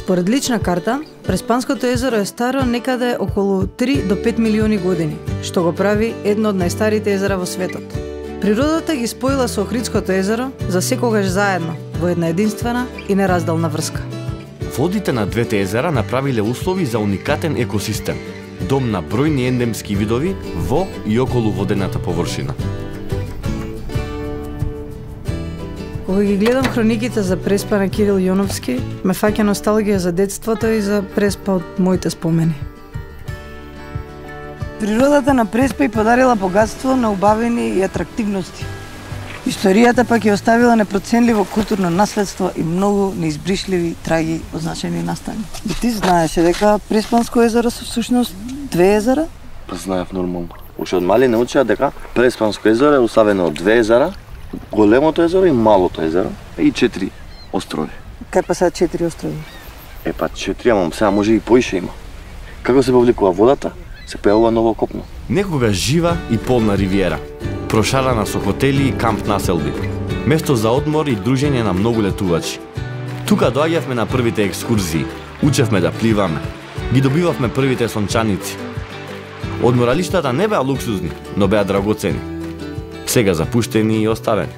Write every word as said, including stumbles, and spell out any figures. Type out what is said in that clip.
Според лична карта, Преспанското езеро е старо некаде околу три до пет милиони години, што го прави едно од најстарите езера во светот. Природата ги споила со Охридското езеро за секогаш заедно, во една единствена и неразделна врска. Водите на двете езера направиле услови за уникатен екосистем, дом на бројни ендемски видови во и околу водената површина. Кога ги гледам хрониките за Преспа на Кирил Јоновски, ме фаќа носталгија за детството и за Преспа од моите спомени. Природата на Преспа и подарила богатство на убавени и атрактивности. Историјата пак ја оставила непроценливо културно наследство и многу неизбришливи траги означени настани. И ти знаеше дека Преспанско езеро се всушност две езера? Па знаев нормално. Уште од мали научија дека Преспанско езеро е уставено од две езера, големото езеро и малото езеро и четири острови. Кај па сега четири острови? Е па четири, ама сега може и поише има. Како се повлекува водата, се појавува ново копно. Некогаш жива и полна ривиера, прошарана со хотели и камп населби, место за одмор и дружење на многу летувачи. Тука доаѓавме на првите екскурзии, учевме да пливаме, ги добивавме првите сончаници. Одморалиштата не беа луксузни, но беа драгоцени. Сега запуштени и оставени.